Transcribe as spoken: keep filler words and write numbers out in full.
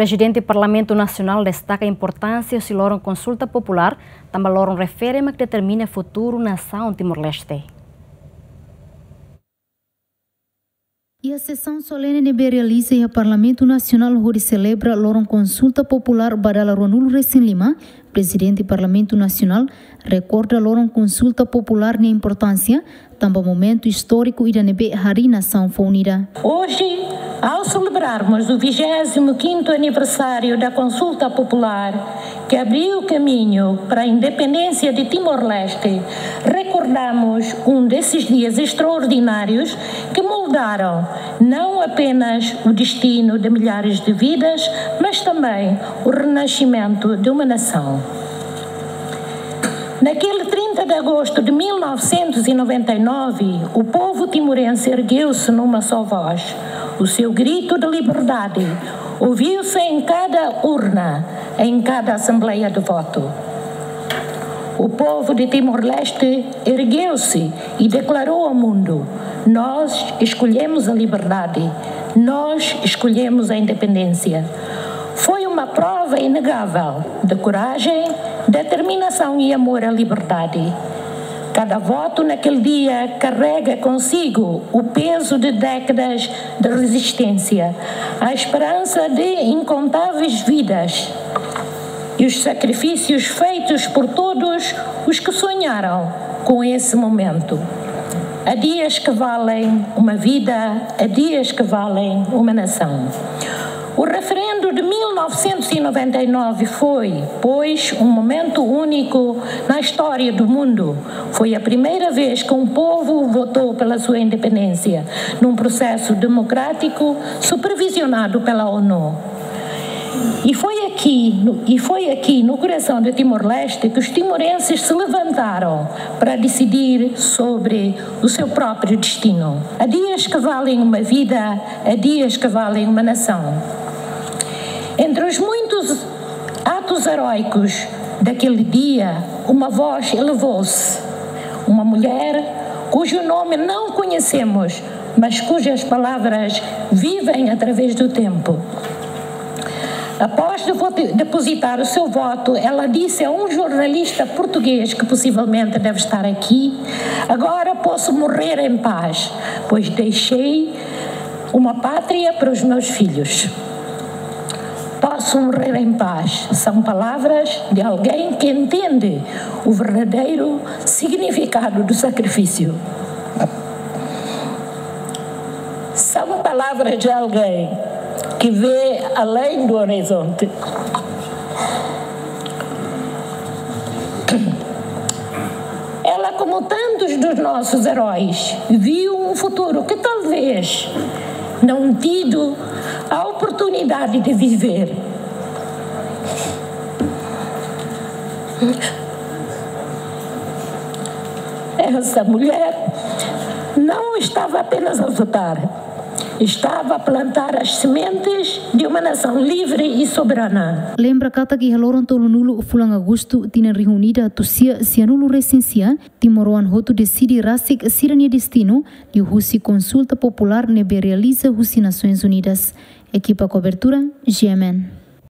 Prezidente Parlamentu Nasionál destaka importánsia husi loron konsulta populár, tanba loron refere mak determina futuru nasaun Timor-Leste. Iha sesaun solene ne'ebé realiza iha Parlamentu Nasionál hodi selebra loron konsulta populár ba dala ruanulu-resin-lima, Prezidente Parlamentu Nasionál rekorda loron konsulta populár nia importánsia, tanba momentu istóriku ida ne'ebé harii nasaun fó unida. Hoje, ao celebrarmos o vigésimo quinto aniversário da Consulta Popular, que abriu caminho para a independência de Timor-Leste, recordamos um desses dias extraordinários que moldaram não apenas o destino de milhares de vidas, mas também o renascimento de uma nação. Naquele trinta de agosto de mil novecentos e noventa e nove, o povo timorense ergueu-se numa só voz. O seu grito de liberdade ouviu-se em cada urna, em cada assembleia de voto. O povo de Timor-Leste ergueu-se e declarou ao mundo: "Nós escolhemos a liberdade, nós escolhemos a independência." Foi uma prova inegável de coragem, determinação e amor à liberdade. Cada voto naquele dia carrega consigo o peso de décadas de resistência, a esperança de incontáveis vidas e os sacrifícios feitos por todos os que sonharam com esse momento. Há dias que valem uma vida, há dias que valem uma nação. O referendo de mil novecentos e noventa e nove foi, pois, um momento único na história do mundo. Foi a primeira vez que um povo votou pela sua independência, num processo democrático supervisionado pela ONU. E foi aqui, no, e foi aqui, no coração de Timor-Leste, que os timorenses se levantaram para decidir sobre o seu próprio destino. Há dias que valem uma vida, há dias que valem uma nação. Entre os muitos atos heróicos daquele dia, uma voz elevou-se. Uma mulher cujo nome não conhecemos, mas cujas palavras vivem através do tempo. Após depo-, depositar o seu voto, ela disse a um jornalista português, que possivelmente deve estar aqui: "Agora posso morrer em paz, pois deixei uma pátria para os meus filhos." "Posso morrer em paz", são palavras de alguém que entende o verdadeiro significado do sacrifício. São palavras de alguém que vê além do horizonte. Ela, como tantos dos nossos heróis, viu um futuro que talvez não tido a oportunidade de viver. Essa mulher não estava apenas a votar, estava a plantar as sementes de uma nação livre e soberana. Lembra katak iha loron tolunulu fulan Agostu tinan rihun ida atus sia sianulu-resin-sia, timoroan hotu deside rasik sira-nia destinu, liuhusi konsulta populár ne'ebé realiza husi Nasoins Unidas. Ekipa kobertura, G M N.